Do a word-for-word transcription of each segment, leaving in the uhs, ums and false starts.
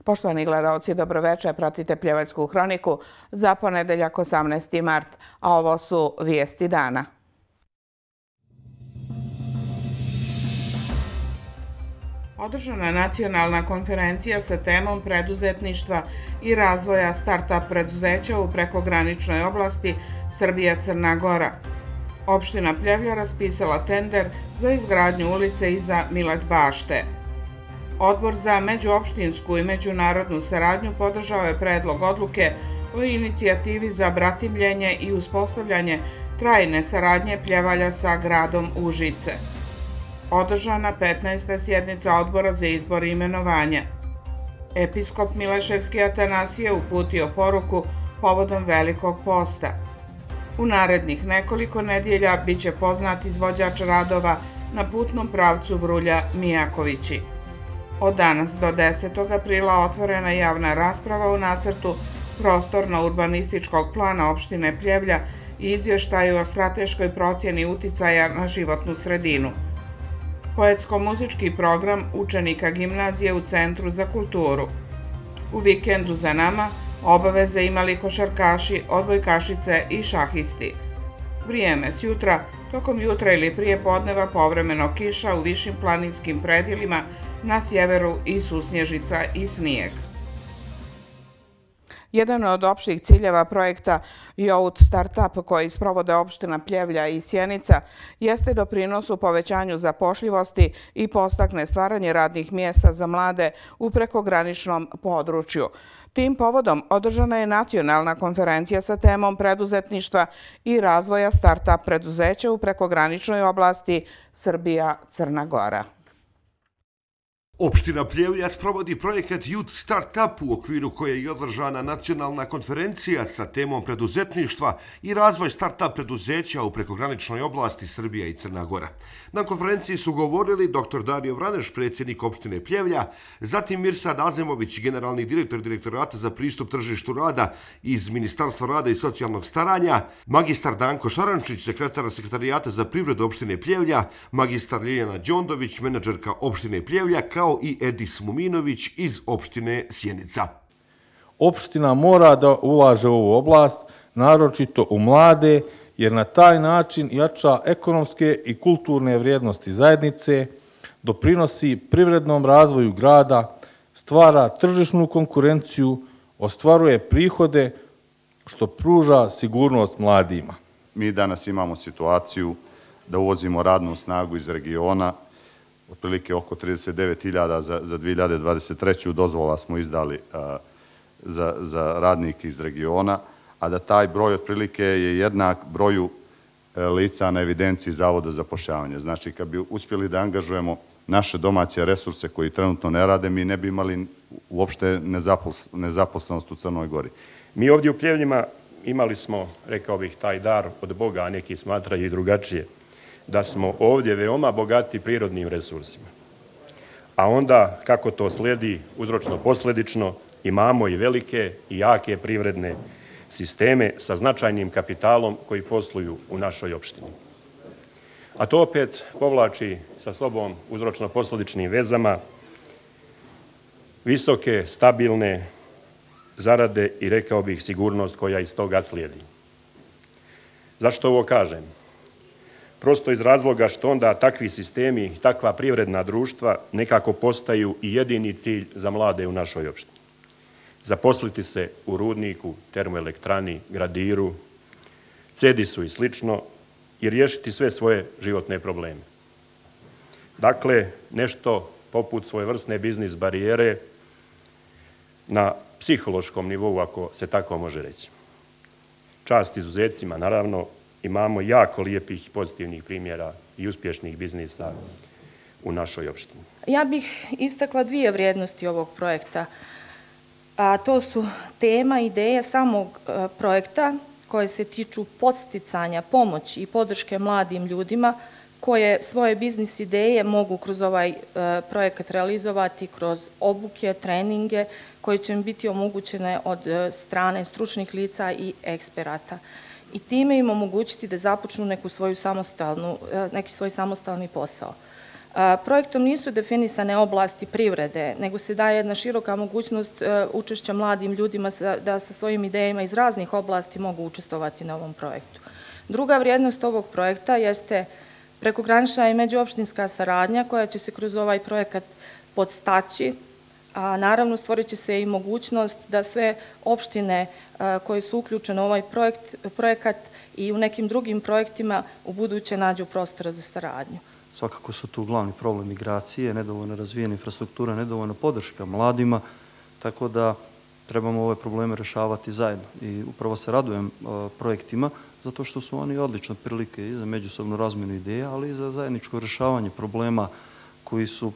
Poštovani gledalci, dobroveče, pratite Pljevačku hroniku za ponedeljak osamnaesti mart, a ovo su vijesti dana. Održana je nacionalna konferencija sa temom preduzetništva i razvoja start-up preduzeća u prekograničnoj oblasti Srbija-Crna Gora. Opština Pljevlja raspisala tender za izgradnju ulice iza Milet bašte. Odbor za međuopštinsku i međunarodnu saradnju podržao je predlog odluke o inicijativi za bratimljenje i uspostavljanje trajne saradnje Pljevalja sa gradom Užice. Održana petnaesta sjednica odbora za izbor i imenovanja. Episkop Mileševski Atanasije uputio poruku povodom Velikog posta. U narednih nekoliko nedjelja bit će poznat izvođač radova na putnom pravcu Vrulja-Mijakovići. Od danas do desetog aprila otvorena je javna rasprava u nacrtu prostorno-urbanističkog plana opštine Pljevlja i izvještaju o strateškoj procjeni uticaja na životnu sredinu. Poetsko-muzički program učenika gimnazije u Centru za kulturu. U vikendu za nama obaveze imali košarkaši, odbojkašice i šahisti. Vrijeme s jutra, tokom jutra ili prije podneva povremeno kiša u višim planinskim predjelima, na sjeveru i susnježica i snijeg. Jedan od opštih ciljeva projekta Youth Startup koji sprovode opština Pljevlja i Sjenica jeste doprinos u povećanju zapošljivosti i podstakne stvaranje radnih mjesta za mlade u prekograničnom području. Tim povodom održana je nacionalna konferencija sa temom preduzetništva i razvoja start-up preduzeća u prekograničnoj oblasti Srbija-Crna Gora. Opština Pljevlja sprovodi projekat Youth Startup u okviru koje je održana nacionalna konferencija sa temom preduzetništva i razvoj start-up preduzeća u prekograničnoj oblasti Srbija i Crna Gora. Na konferenciji su govorili dr Dario Vraneš, predsjednik opštine Pljevlja, zatim Mirsad Azemović, generalni direktor Direktorata za pristup tržištu rada iz Ministarstva rada i socijalnog staranja, magistar Danko Šarančić, sekretar Sekretarijata za privredu opštine Pljevlja, magistar Ljiljana Đondović, menadžerka opštine Pljevlja, kao i Edis Muminović iz opštine Sjenica. Opština mora da ulaže u ovu oblast, naročito u mlade, jer na taj način jača ekonomske i kulturne vrijednosti zajednice, doprinosi privrednom razvoju grada, stvara tržišnu konkurenciju, ostvaruje prihode, što pruža sigurnost mladima. Mi danas imamo situaciju da uvozimo radnu snagu iz regiona, otprilike oko trideset devet hiljada za dvije hiljade dvadeset treću dozvola smo izdali za radnike iz regiona, a da taj broj otprilike je jednak broju lica na evidenciji Zavoda za zapošljavanje. Znači, kad bi uspjeli da angažujemo naše domaće resurse koji trenutno ne rade, mi ne bi imali uopšte nezaposlenost u Crnoj Gori. Mi ovdje u Pljevljima imali smo, rekao bih, taj dar od Boga, a neki smatraju i drugačije, da smo ovdje veoma bogati prirodnim resursima. A onda, kako to slijedi, uzročno-posledično, imamo i velike i jake privredne sisteme sa značajnim kapitalom koji posluju u našoj opštini. A to opet povlači sa sobom uzročno-posledičnim vezama visoke, stabilne zarade i, rekao bih, sigurnost koja iz toga slijedi. Zašto ovo kažem? Prosto iz razloga što onda takvi sistemi, takva privredna društva nekako postaju i jedini cilj za mlade u našoj opštini. Zaposliti se u rudniku, termoelektrani, gradiru, cedisu i slično i riješiti sve svoje životne probleme. Dakle, nešto poput svojevrsne biznis barijere na psihološkom nivou, ako se tako može reći. Čast izuzecima, naravno, imamo jako lijepih i pozitivnih primjera i uspješnih biznisa u našoj opštini. Ja bih istakla dvije vrijednosti ovog projekta. A to su tema, ideje samog projekta koje se tiču podsticanja, pomoći i podrške mladim ljudima koje svoje biznis ideje mogu kroz ovaj projekat realizovati kroz obuke, treninge koje će im biti omogućene od strane stručnih lica i eksperata. I time im omogućiti da započnu neku svoju samostalnu, neki svoj samostalni posao. Projektom nisu definisane oblasti privrede, nego se daje jedna široka mogućnost učešća mladim ljudima da sa svojim idejama iz raznih oblasti mogu učestvovati na ovom projektu. Druga vrijednost ovog projekta jeste prekogranična i međuopštinska saradnja koja će se kroz ovaj projekat podstaći, a naravno stvorit će se i mogućnost da sve opštine koje su uključene u ovaj projekat i u nekim drugim projektima u buduće nađu prostora za saradnju. Svakako su tu glavni problem migracije, nedovoljno razvijena infrastruktura, nedovoljno podrška mladima, tako da trebamo ove probleme rešavati zajedno. I upravo se radujem projektima, zato što su oni odlične prilike i za međusobnu razmjenu ideja, ali i za zajedničko rešavanje problema koji su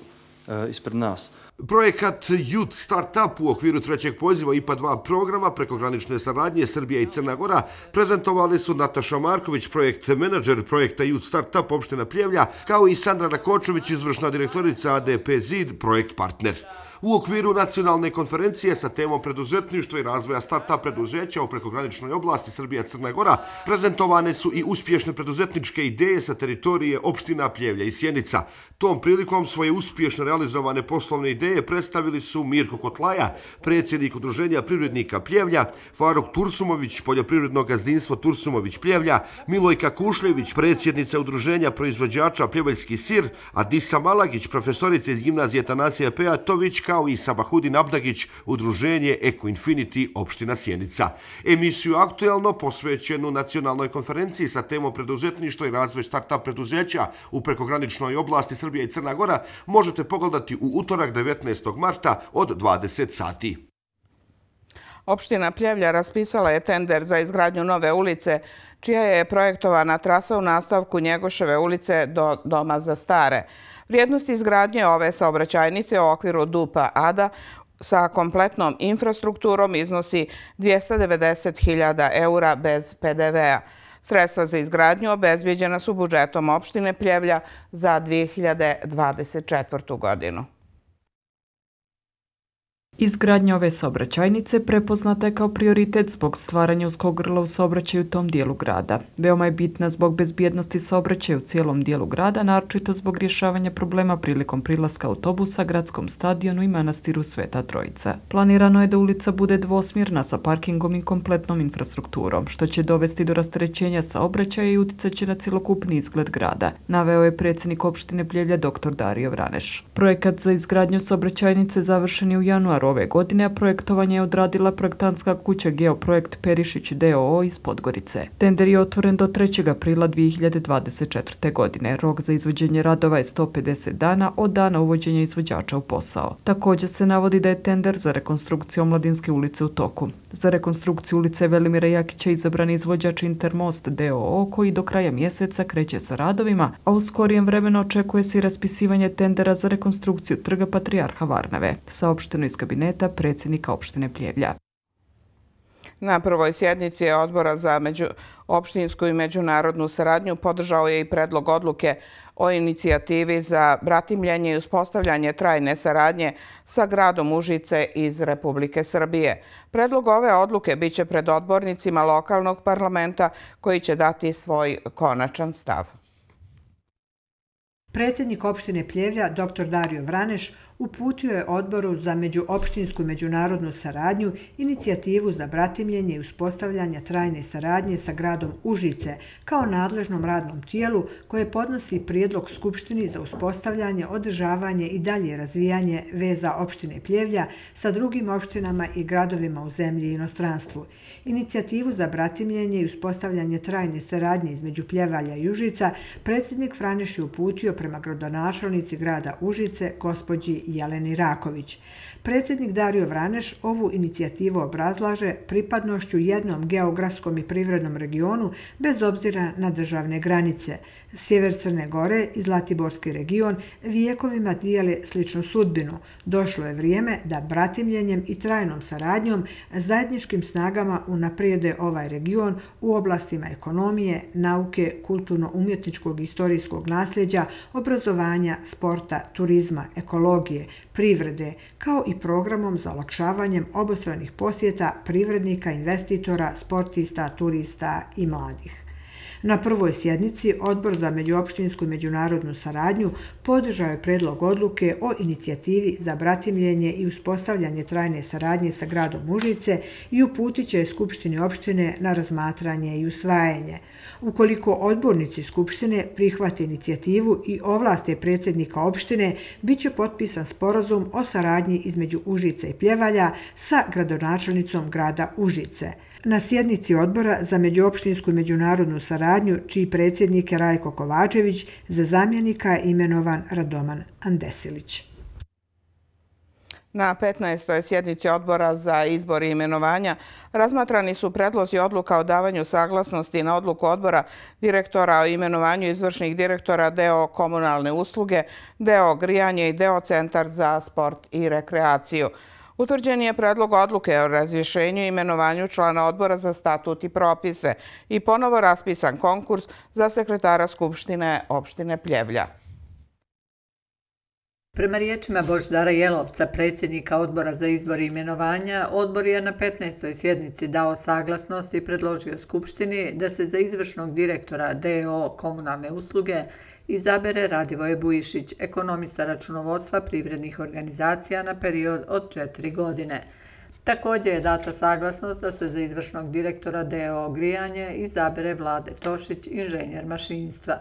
ispred nas. Projekat Youth Startup u okviru trećeg poziva I P A dva programa prekogranične saradnje Srbija i Crna Gora prezentovali su Nataša Marković, projekt menadžer projekta Youth Startup opština Pljevlja, kao i Sandra Rakočević, izvršna direktorica A D P Zid, projekt partner. U okviru nacionalne konferencije sa temom preduzetništva i razvoja start-up preduzeća u prekograničnoj oblasti Srbija-Crna Gora prezentovane su i uspješne preduzetničke ideje sa teritorije opština Pljevlja i Sjenica. Tom prilikom svoje uspješno realizovane poslovne ideje predstavili su Mirko Kotlaja, predsjednik Udruženja privrednika Pljevlja, Faruk Tursumović, poljoprivredno gazdinstvo Tursumović Pljevlja, Milojka Kušljević, predsjednica Udruženja proizvođača Pljeveljski sir, Adisa Malagić, profesorica iz gimnazije Tanasija Pejatović, kao i Sabahudin Abdagić, Udruženje Eko Infinity, opština Sjenica. Emisiju Aktuelno, posvećenu nacionalnoj konferenciji sa temom preduzetništva i razvoj start-up preduzeća u prekograničnoj oblasti Srbija i Crna Gora, možete pogledati u utorak devetnaestog marta od dvadeset sati. Opština Pljevlja raspisala je tender za izgradnju nove ulice, čija je projektovana trasa u nastavku Njegoševe ulice do Doma za stare. Vrijednost izgradnje ove saobraćajnice u okviru D U P-a A D A sa kompletnom infrastrukturom iznosi dvjesto devedeset hiljada eura bez P D V-a. Sredstva za izgradnju obezbijeđena su budžetom opštine Pljevlja za dvije hiljade dvadeset četvrtu. godinu. Izgradnja ove saobraćajnice prepoznata je kao prioritet zbog stvaranja uskog grla u saobraćaju u tom dijelu grada. Veoma je bitna zbog bezbjednosti saobraćaja u cijelom dijelu grada, naročito zbog rješavanja problema prilikom prilaska autobusa, gradskom stadionu i manastiru Sveta Trojica. Planirano je da ulica bude dvosmjerna sa parkingom i kompletnom infrastrukturom, što će dovesti do rasterećenja saobraćaja i uticaće na cjelokupni izgled grada, naveo je predsjednik opštine Pljevlja dr Dario Vraneš. Projekat za izgradnju saobraćajnice završen je u januaru ove godine, a projektovanje je odradila projektantska kuća Geoprojekt Perišić d o o iz Podgorice. Tender je otvoren do trećeg aprila dvije hiljade dvadeset četvrte. godine. Rok za izvođenje radova je sto pedeset dana od dana uvođenja izvođača u posao. Također se navodi da je tender za rekonstrukciju Omladinske ulice u toku. Za rekonstrukciju ulice Velimira Jakića izabran izvođač Intermost d o o koji do kraja mjeseca kreće sa radovima, a u skorijem vremenu očekuje se i raspisivanje tendera za rekonstrukciju Trga Patrijarha Varnave, saopšteno iz kabineta predsjednika opštine Pljevlja. Na prvoj sjednici Odbora za opštinsku i međunarodnu saradnju podržao je i predlog odluke o inicijativi za bratimljenje i uspostavljanje trajne saradnje sa gradom Užice iz Republike Srbije. Predlog ove odluke biće pred odbornicima lokalnog parlamenta koji će dati svoj konačan stav. Predsjednik opštine Pljevlja, dr Dario Vraneš, uputio je Odboru za međuopštinsku i međunarodnu saradnju inicijativu za bratimljenje i uspostavljanje trajne saradnje sa gradom Užice kao nadležnom radnom tijelu koje podnosi prijedlog Skupštini za uspostavljanje, održavanje i dalje razvijanje veza opštine Pljevlja sa drugim opštinama i gradovima u zemlji i inostranstvu. Inicijativu za bratimljenje i uspostavljanje trajne saradnje između Pljevalja i Užica predsjednik Vraneš je uputio prema gradonačelnici grada Užice, gospođi Jeleni Raković. Predsjednik Dario Vraneš ovu inicijativu obrazlaže pripadnošću jednom geografskom i privrednom regionu bez obzira na državne granice. Sjever Crne Gore i Zlatiborski region vijekovima dijele sličnu sudbinu. Došlo je vrijeme da bratimljenjem i trajnom saradnjom zajedničkim snagama unaprijede ovaj region u oblastima ekonomije, nauke, kulturno-umjetničkog i istorijskog nasljeđa, obrazovanja, sporta, turizma, ekologije, privrede, kao i programom za olakšavanjem obostranih posjeta privrednika, investitora, sportista, turista i mladih. Na prvoj sjednici Odbor za međuopštinsku i međunarodnu saradnju podržao je predlog odluke o inicijativi za bratimljenje i uspostavljanje trajne saradnje sa gradom Užice i uputit će Skupštini opštine na razmatranje i usvajanje. Ukoliko odbornici Skupštine prihvate inicijativu i ovlaste predsjednika opštine, bit će potpisan sporazum o saradnji između Užice i Pljevalja sa gradonačelnicom grada Užice. Na sjednici Odbora za međuopštinsku i međunarodnu saradnju, čiji predsjednik je Rajko Kovačević, za zamjenika je imenovan Radoman Andesilić. Na petnaestoj sjednici Odbora za izbor i imenovanja razmatrani su predlozi odluka o davanju saglasnosti na odluku Odbora direktora o imenovanju izvršnih direktora D O komunalne usluge, D O grijanje i D O centar za sport i rekreaciju. Utvrđen je predlog odluke o razrješenju i imenovanju člana Odbora za statut i propise i ponovo raspisan konkurs za sekretara Skupštine opštine Pljevlja. Prema riječima Božidara Jelovca, predsjednika Odbora za izbor i imenovanja, odbor je na petnaestoj sjednici dao saglasnost i predložio Skupštini da se za izvršnog direktora D O komunalne usluge izabere Radivoje Bujišić, ekonomista računovodstva privrednih organizacija na period od četiri godine. Također je data saglasnost da se za izvršnog direktora D O grijanje izabere Vlade Tošić, inženjer mašinstva.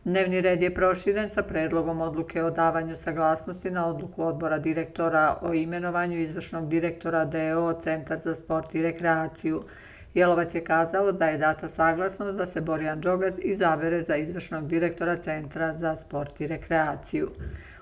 Dnevni red je proširen sa predlogom odluke o davanju saglasnosti na odluku Odbora direktora o imenovanju izvršnog direktora D O centar za sport i rekreaciju. Jelovac je kazao da je data saglasnost da se Borjan Đogac izabere za izvršnog direktora Centra za sport i rekreaciju.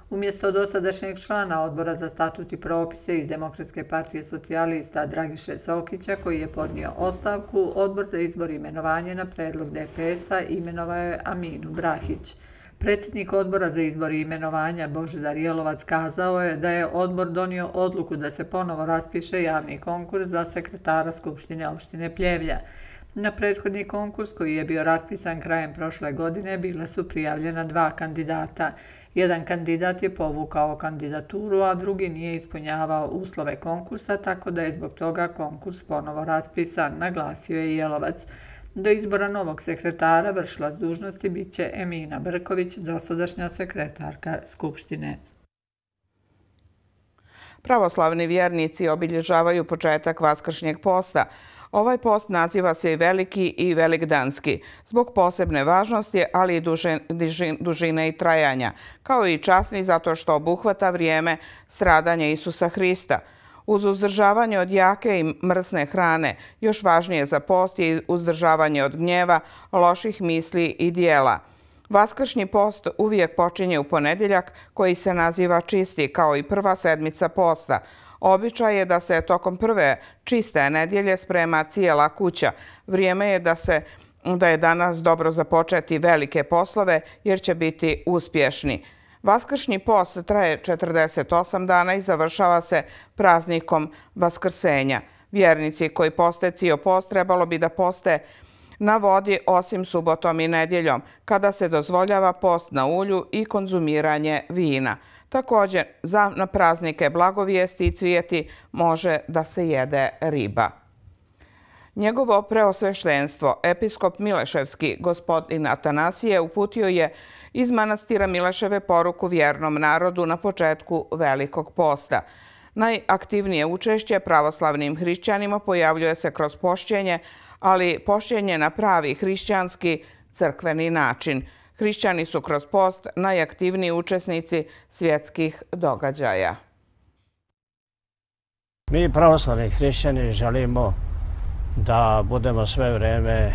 Umjesto dosadašnjeg člana Odbora za statut i propise iz Demokratske partije socijalista Dragiše Sokića, koji je podnio ostavku, Odbor za izbor i imenovanje na predlog D P S-a imenovao je Aminu Brahić. Predsjednik Odbora za izbor i imenovanja Božidar Jelovac kazao je da je odbor donio odluku da se ponovo raspiše javni konkurs za sekretara Skupštine opštine Pljevlja. Na prethodni konkurs, koji je bio raspisan krajem prošle godine, bila su prijavljena dva kandidata. Jedan kandidat je povukao kandidaturu, a drugi nije ispunjavao uslove konkursa, tako da je zbog toga konkurs ponovo raspisan, naglasio je Jelovac. Do izbora novog sekretara vršilac dužnosti bit će Emina Brković, dosadašnja sekretarka Skupštine. Pravoslavni vjernici obilježavaju početak Vaskršnjeg posta. Ovaj post naziva se i Veliki i Velikdanski, zbog posebne važnosti, ali i dužine i trajanja, kao i časni zato što obuhvata vrijeme stradanja Isusa Hrista. Uz uzdržavanje od jake i mrsne hrane, još važnije za post je uzdržavanje od gnjeva, loših misli i dijela. Vaskršnji post uvijek počinje u ponedjeljak, koji se naziva čisti, kao i prva sedmica posta. Običaj je da se tokom prve čiste nedjelje sprema cijela kuća. Vrijeme je da se da je danas dobro započeti velike poslove jer će biti uspješni. Vaskršnji post traje četrdeset osam dana i završava se praznikom Vaskrsenja. Vjernici koji poste cijel post trebalo bi da poste na vodi osim subotom i nedjeljom, kada se dozvoljava post na ulju i konzumiranje vina. Također, za na praznike Blagovijesti i Cvijeti može da se jede riba. Njegovo preosveštenstvo, episkop Mileševski, gospodin Atanasije, uputio je iz manastira Mileševe poruku vjernom narodu na početku Velikog posta. Najaktivnije učešće pravoslavnim hrišćanima pojavljuje se kroz pošćenje, ali pošćenje na pravi hrišćanski crkveni način. Hrišćani su kroz post najaktivniji učesnici svjetskih događaja. Mi pravoslavni hrišćani želimo da budemo sve vrijeme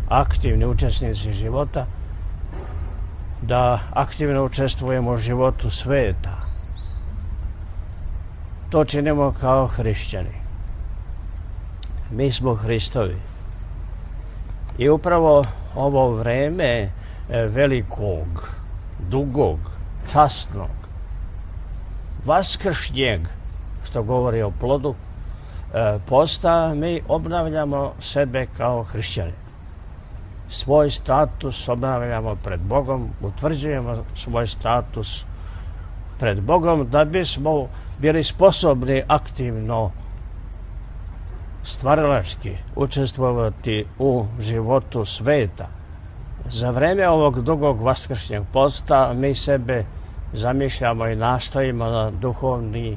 aktivni učesnici života, da aktivno učestvujemo u životu sveta. To činimo kao hrišćani. Mi smo Hristovi. I upravo ovo vrijeme velikog, dugog, časnog, vaskršnjeg, što govori o plodu posta, mi obnavljamo sebe kao hrišćani. Svoj status obnavljamo pred Bogom, utvrđujemo svoj status pred Bogom da bismo bili sposobni aktivno stvaralački učestvovati u životu sveta. Za vreme ovog dugog vaskršnjeg posta mi sebe zamišljamo i nastojimo na duhovni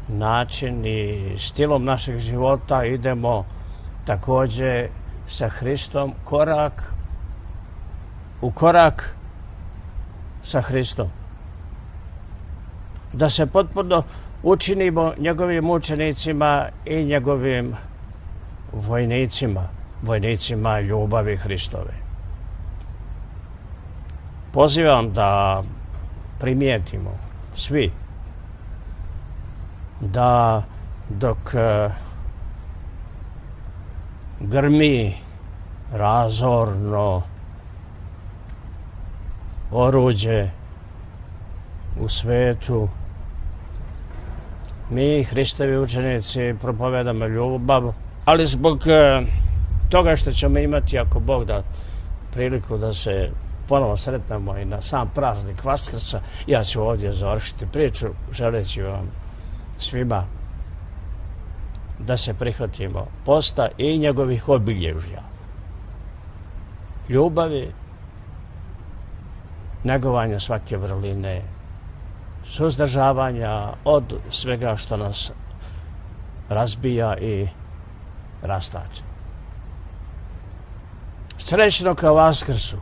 način i stilom našeg života idemo također sa Hristom korak u korak sa Hristom. Da se potpuno učinimo njegovim učenicima i njegovim vojnicima, vojnicima ljubavi Hristove. Pozivam da primijetimo svi da dok grmi razorno oruđe u svetu, mi, Hristovi učenici, propovedamo ljubav, ali zbog toga što ćemo imati, ako Bog da, priliku da se ponovo sretnemo i na sam praznik Vaskrsa, ja ću ovdje završiti priču, želeći vam svima da se prihvatimo posta i njegovih obilježja. Ljubavi, negovanja svake vrline, suzdržavanja od svega što nas razbija i rastače. Srećno ka Vaskrsu!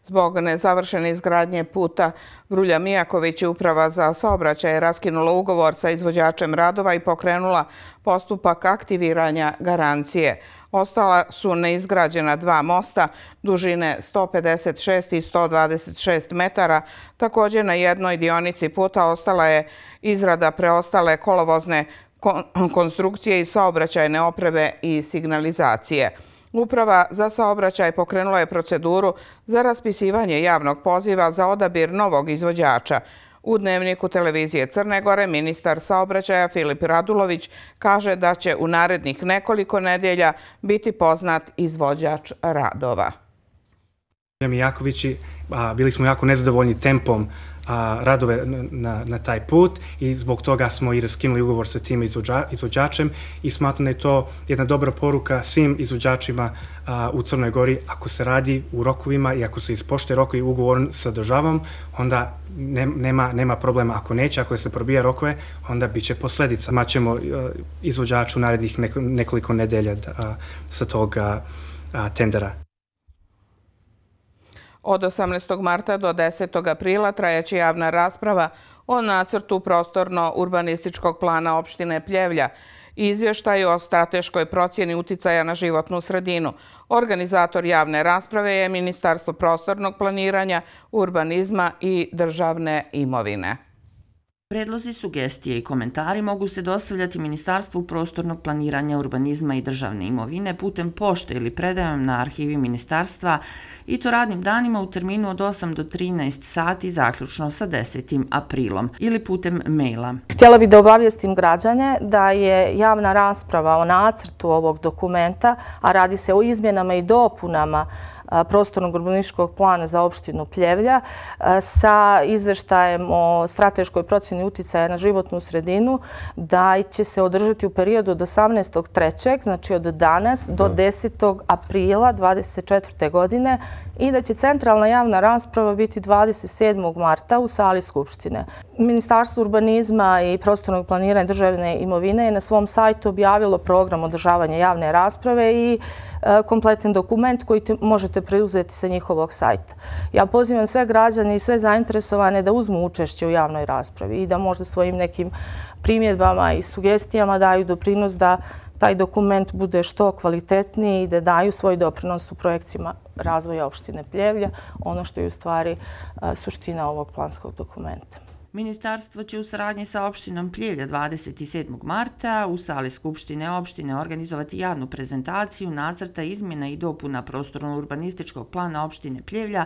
Zbog nezavršene izgradnje puta Vrulja Mijaković, Uprava za saobraćaj je raskinula ugovor sa izvođačem radova i pokrenula postupak aktiviranja garancije. Ostala su neizgrađena dva mosta dužine sto pedeset šest i sto dvadeset šest metara. Također na jednoj dionici puta ostala je izrada preostale kolovozne konstrukcije i saobraćajne opreme i signalizacije. Uprava za saobraćaj pokrenula je proceduru za raspisivanje javnog poziva za odabir novog izvođača. U Dnevniku televizije Crne Gore ministar saobraćaja Filip Radulović kaže da će u narednih nekoliko nedelja biti poznat izvođač radova. Mijakovići, bili smo jako nezadovoljni tempom radove na, na taj put i zbog toga smo i raskinuli ugovor sa tim izvođa, izvođačem i smatram da je to jedna dobra poruka svim izvođačima a, u Crnoj Gori. Ako se radi u rokovima i ako se ispoštuje rokovi ugovor sa državom, onda ne, nema, nema problema. Ako neće, ako se probija rokove, onda bit će posljedica. Maćemo izvođaču narednih nekoliko nedelja a, sa tog a, a, tendera. Od osamnaestog marta do desetog aprila trajaće javna rasprava o nacrtu prostorno-urbanističkog plana opštine Pljevlja i izvještaju o strateškoj procjeni uticaja na životnu sredinu. Organizator javne rasprave je Ministarstvo prostornog planiranja, urbanizma i državne imovine. Predlozi, sugestije i komentari mogu se dostavljati Ministarstvu prostornog planiranja, urbanizma i državne imovine putem pošte ili predajom na arhivi Ministarstva i to radnim danima u terminu od osam do trinaest sati zaključno sa desetim aprilom ili putem maila. Htjela bih da obavijestim građane da je javna rasprava o nacrtu ovog dokumenta, a radi se o izmjenama i dopunama prostornog urbanističkog plana za opštinu Pljevlja sa izveštajem o strateškoj procjeni uticaja na životnu sredinu, da će se održati u periodu od osamnaestog trećeg znači od danas do desetog aprila dvadeset četvrte godine i da će centralna javna rasprava biti dvadeset sedmog marta u sali Skupštine. Ministarstvo urbanizma i prostornog planiranja državne imovine je na svom sajtu objavilo program održavanja javne rasprave i kompletan dokument koji možete preuzeti sa njihovog sajta. Ja pozivam sve građane i sve zainteresovane da uzmu učešće u javnoj raspravi i da možda svojim nekim primjedbama i sugestijama daju doprinos da taj dokument bude što kvalitetniji i da daju svoj doprinos u projekcijama razvoja opštine Pljevlja, ono što je u stvari suština ovog planskog dokumenta. Ministarstvo će u saradnji sa opštinom Pljevlja dvadeset sedmog marta u sali Skupštine opštine organizovati javnu prezentaciju nacrta izmjena i dopuna prostorno-urbanističkog plana opštine Pljevlja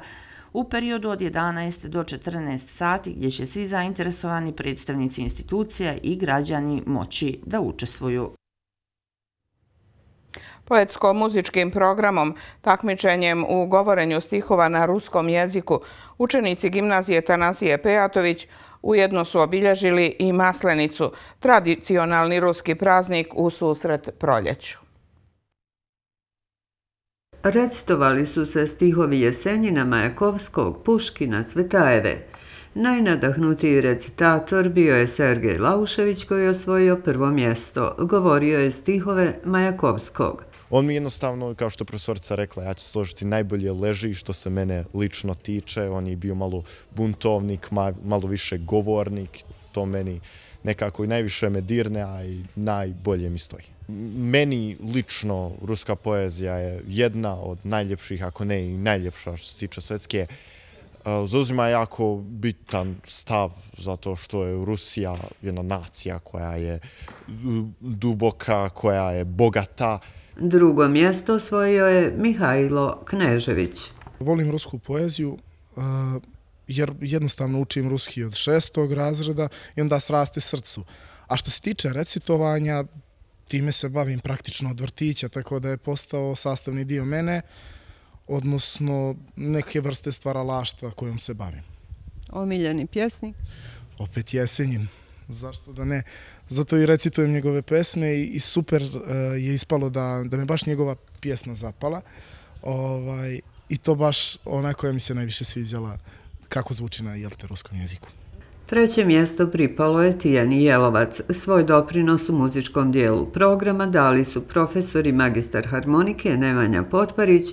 u periodu od jedanaest do četrnaest sati gdje će svi zainteresovani predstavnici institucija i građani moći da učestvuju. Poetsko-muzičkim programom, takmičenjem u govorenju stihova na ruskom jeziku, učenici gimnazije Tanasije Pejatović Ujedno su obilježili i Maslenicu, tradicionalni ruski praznik u susret proljeću. Recitovali su se stihovi Jesenjina, Majakovskog, Puškina, Cvetajeve. Najnadahnutiji recitator bio je Sergej Laušević koji je osvojio prvo mjesto. Govorio je stihove Majakovskog. On mi jednostavno, kao što je profesorica rekla, ja ću složiti, najbolje leži što se mene lično tiče. On je bio malo buntovnik, malo više govornik. To meni nekako i najviše me dirne, a i najbolje mi stoji. Meni lično ruska poezija je jedna od najljepših, ako ne i najljepša što se tiče svetske. Zauzima jako bitan stav zato što je Rusija jedna nacija koja je duboka, koja je bogata. Drugo mjesto osvojio je Mihajlo Knežević. Volim rusku poeziju jer jednostavno učim ruski od šestog razreda i onda sraste srcu. A što se tiče recitovanja, time se bavim praktično od vrtića, tako da je postao sastavni dio mene, odnosno neke vrste stvaralaštva kojom se bavim. Omiljeni pjesnik? Opet Jesenjin, zašto da ne. Zato i recitujem njegove pesme i super je ispalo da me baš njegova pjesma zapala. I to baš ona koja mi se najviše sviđala kako zvuči na ruskom jeziku. Treće mjesto pripalo je Tijani Jelovac. Svoj doprinos u muzičkom dijelu programa dali su profesori magistar harmonike Nemanja Potparić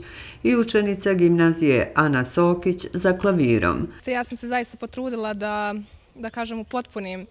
i učenica gimnazije Ana Sokić za klavirom. Ja sam se zaista potrudila da, da kažem, upotpunim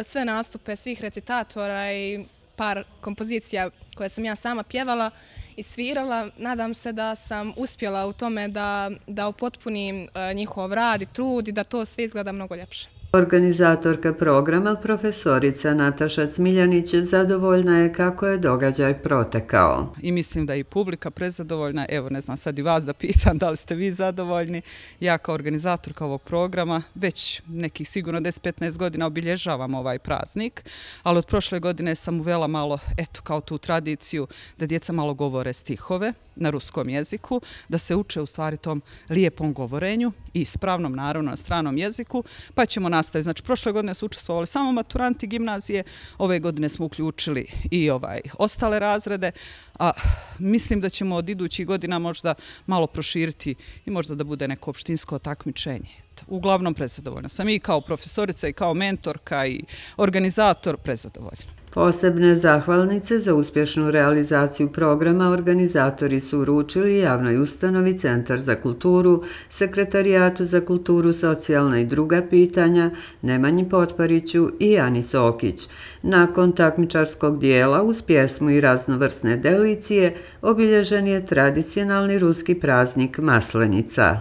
sve nastupe svih recitatora i par kompozicija koje sam ja sama pjevala i svirala. Nadam se da sam uspjela u tome da, da upotpunim njihov rad i trud i da to sve izgleda mnogo ljepše. Organizatorka programa, profesorica Nataša Cmiljanić, zadovoljna je kako je događaj protekao. I mislim da je i publika prezadovoljna. Evo, ne znam sad i vas da pitam da li ste vi zadovoljni. Ja kao organizatorka ovog programa već nekih sigurno deset do petnaest godina obilježavam ovaj praznik, ali od prošle godine sam uvela malo, eto, kao tu tradiciju da djeca malo govore stihove na ruskom jeziku, da se uče u stvari tom lijepom govorenju i ispravnom, naravno, na stranom jeziku, pa ćemo nastaviti. Znači, prošle godine su učestvovali samo maturanti gimnazije, ove godine smo uključili i ovaj ostale razrede, a mislim da ćemo od idućih godina možda malo proširiti i možda da bude neko opštinsko takmičenje. Uglavnom prezadovoljna sam i kao profesorica i kao mentorka i organizator prezadovoljna. Posebne zahvalnice za uspješnu realizaciju programa organizatori su uručili javnoj ustanovi Centar za kulturu, Sekretarijatu za kulturu, socijalna i druga pitanja, Nemanji Potpariću i Ani Sokić. Nakon takmičarskog dijela uz pjesmu i raznovrsne delicije obilježen je tradicionalni ruski praznik Maslenica.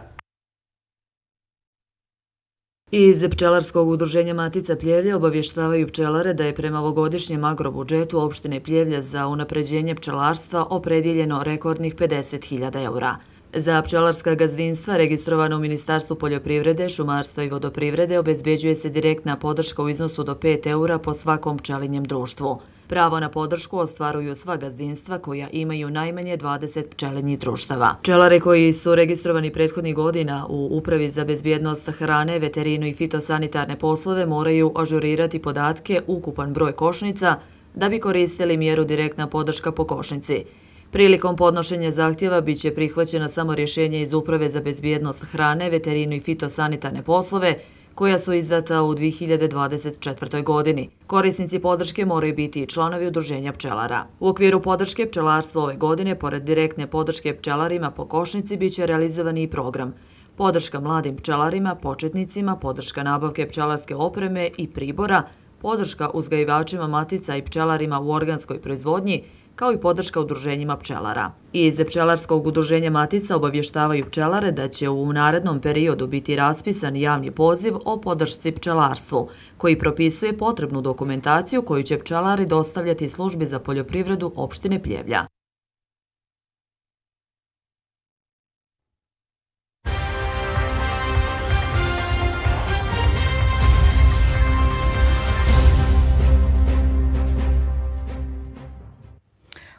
Iz Pčelarskog udruženja Matica Pljevlja obavještavaju pčelare da je prema ovogodišnjem agrobudžetu opštine Pljevlja za unapređenje pčelarstva opredjeljeno rekordnih pedeset hiljada eura. Za pčelarska gazdinstva registrovana u Ministarstvu poljoprivrede, šumarstva i vodoprivrede obezbeđuje se direktna podrška u iznosu do pet eura po svakom pčelinjem društvu. Pravo na podršku ostvaruju sva gazdinstva koja imaju najmanje dvadeset pčelinjih društava. Pčelare koji su registrovani prethodnih godina u Upravi za bezbjednost hrane, veterinu i fitosanitarne poslove moraju ažurirati podatke ukupan broj košnica da bi koristili mjeru direktna podrška po košnici. Prilikom podnošenja zahtjeva biće prihvaćena samo rješenje iz Uprave za bezbjednost hrane, veterinu i fitosanitarne poslove koja su izdata u dvije hiljade dvadeset četvrtoj godini. Korisnici podrške moraju biti i članovi udruženja pčelara. U okviru podrške pčelarstva ove godine, pored direktne podrške pčelarima po košnici, biće realizovani i program podrška mladim pčelarima, početnicima, podrška nabavke pčelarske opreme i pribora, podrška uzgajivačima matica i pčelarima u organskoj proizvodnji, kao i podrška udruženjima pčelara. Iz Pčelarskog udruženja Matica obavještavaju pčelare da će u narednom periodu biti raspisan javni poziv o podršci pčelarstvu, koji propisuje potrebnu dokumentaciju koju će pčelari dostavljati službi za poljoprivredu opštine Pljevlja.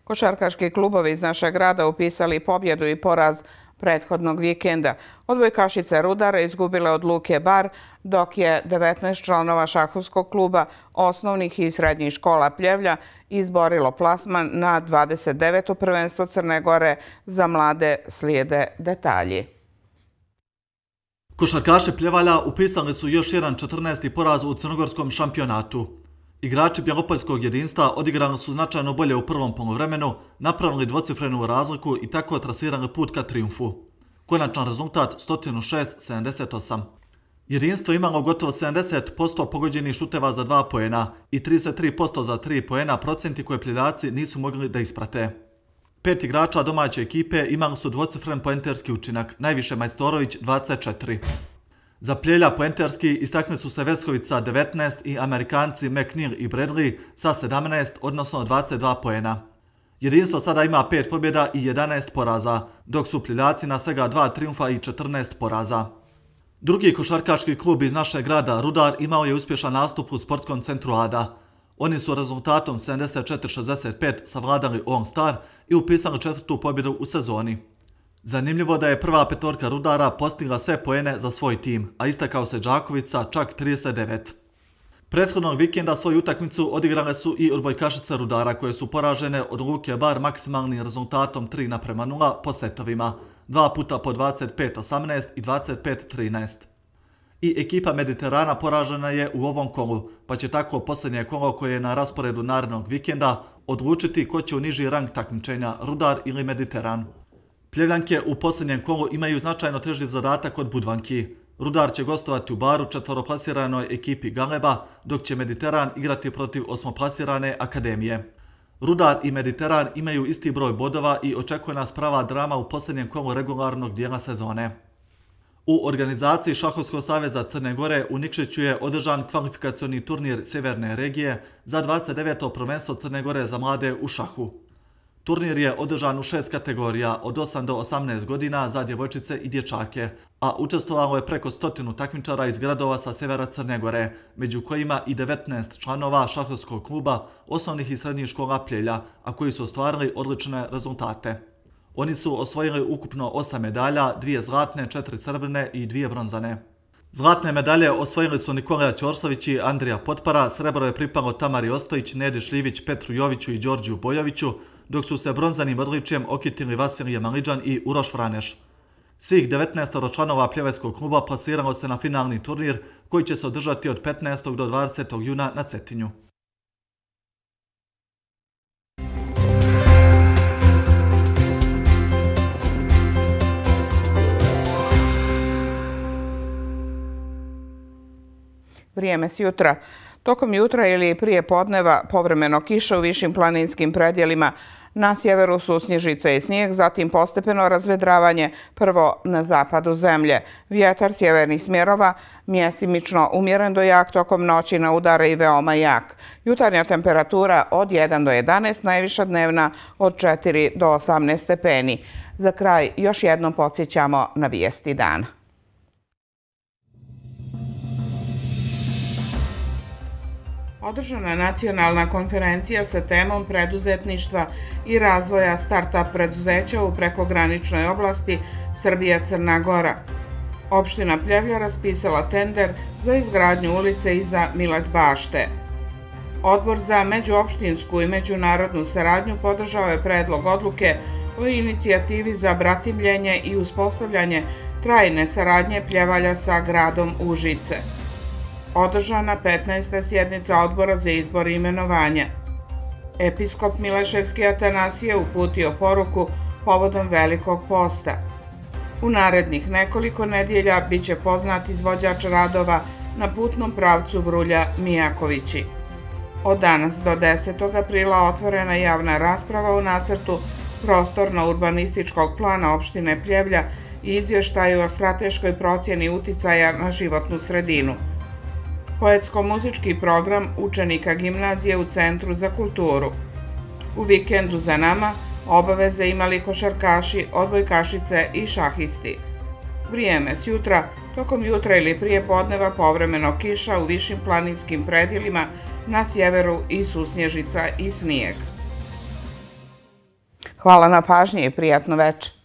Košarkaški klubovi iz našeg grada upisali pobjedu i poraz prethodnog vikenda. Odbojkašice Rudara izgubile od Luke Bar, dok je devetnaest članova šahovskog kluba osnovnih i srednjih škola Pljevlja izborilo plasman na dvadeset deveto prvenstvo Crne Gore. Za mlade slijede detalji. Košarkaši Pljevalja upisali su još jedan četrnaesti poraz u crnogorskom šampionatu. Igrači Bjelopoljskog jedinstva odigrali su značajno bolje u prvom poluvremenu, napravili dvocifrenu razliku i tako trasirali put ka triumfu. Konačan rezultat sto šest sedamdeset osam. Jedinstvo imalo gotovo sedamdeset posto pogođenih šuteva za dva poena i trideset tri posto za tri poena, procenti koje Pljeljaci nisu mogli da isprate. Pet igrača domaće ekipe imali su dvocifren poenterski učinak, najviše Majstorović dvadeset četiri. Za Pljevlja poenterski istakli su se Vesković sa devetnaest i Amerikanci McNeil i Bradley sa sedamnaest, odnosno dvadeset dva poena. Jedinstvo sada ima pet pobjeda i jedanaest poraza, dok su Pljevljaci na svega dva triumfa i četrnaest poraza. Drugi košarkaški klub iz našeg grada, Rudar, imao je uspješan nastup u sportskom centru Ada. Oni su rezultatom sedamdeset četiri šezdeset pet savladali All Star i upisali četvrtu pobjedu u sezoni. Zanimljivo da je prva petorka Rudara postigla sve poene za svoj tim, a istakao se Đaković sa čak trideset devet. Prethodnog vikenda svoju utakmicu odigrale su i odbojkašice Rudara, koje su poražene od Luke Bar maksimalnim rezultatom tri naprema nula po setovima, dva puta po dvadeset pet osamnaest i dvadeset pet trinaest. I ekipa Mediterana poražena je u ovom kolu, pa će tako posljednje kolo koje je na rasporedu narednog vikenda odlučiti ko će u niži rang takmičenja, Rudar ili Mediteran. Pljevljanke u posljednjem kolu imaju značajno teži zadatak od Budvanki. Rudar će gostovati u Baru četvoroplasiranoj ekipi Galeba, dok će Mediteran igrati protiv osmoplasirane Akademije. Rudar i Mediteran imaju isti broj bodova i očekuje nas prava drama u posljednjem kolu regularnog dijela sezone. U organizaciji Šahovskog saveza Crne Gore u Nikšiću je održan kvalifikacioni turnir Sjeverne regije za dvadeset deveto prvenstvo Crne Gore za mlade u šahu. Turnir je održan u šest kategorija od osam do osamnaest godina za djevojčice i dječake, a učestvovalo je preko stotinu takmičara iz gradova sa sjevera Crne Gore, među kojima i devetnaest članova šahovskog kluba osnovnih i srednjih škola Pljevlja, a koji su ostvarili odlične rezultate. Oni su osvojili ukupno osam medalja, dvije zlatne, četiri srebrne i dvije bronzane. Zlatne medalje osvojili su Nikolija Ćorsović i Andrija Potpara, srebro je pripalo Tamari Ostojić, Nedi Šljivić, Petru Joviću i Đorđiju Bojoviću, dok su se bronzanim odličjem okitili Vasilije Maliđan i Uroš Franeš. Svih devetnaest članova Pljevljskog kluba plasiralo se na finalni turnir koji će se održati od petnaestog do dvadesetog juna na Cetinju. Vrijeme s jutra. Tokom jutra ili prije podneva povremeno kiša u višim planinskim predjelima. Na sjeveru su snježice i snijeg, zatim postepeno razvedravanje, prvo na zapadu zemlje. Vjetar sjevernih smjerova, mjestimično umjeren do jak, tokom noći na udare i veoma jak. Jutarnja temperatura od jedan do jedanaest, najviša dnevna od četiri do osamnaest stepeni. Za kraj još jednom podsjećamo na vijesti dana. Održana je nacionalna konferencija sa temom preduzetništva i razvoja start-up preduzeća u prekograničnoj oblasti Srbija-Crna Gora. Opština Pljevlja raspisala tender za izgradnju ulice iza Milet bašte. Odbor za međuopštinsku i međunarodnu saradnju podržao je predlog odluke o inicijativi za bratimljenje i uspostavljanje trajne saradnje Pljevalja sa gradom Užice. Održana petnaesta sjednica Odbora za izbor i imenovanja. Episkop Mileševski Atanasije uputio poruku povodom Velikog posta. U narednih nekoliko nedjelja bit će poznat izvođač radova na putnom pravcu Vrulja-Mijakovići. Od danas do desetog aprila otvorena javna rasprava u nacrtu prostorno-urbanističkog plana opštine Pljevlja i izvještaju o strateškoj procjeni uticaja na životnu sredinu. Poetsko-muzički program učenika gimnazije u Centru za kulturu. U vikendu za nama obaveze imali košarkaši, odbojkašice i šahisti. Vrijeme s jutra, tokom jutra ili prije podneva povremeno kiša u višim planinskim predjelima, na sjeveru i susnježica i snijeg. Hvala na pažnji i prijatno večer.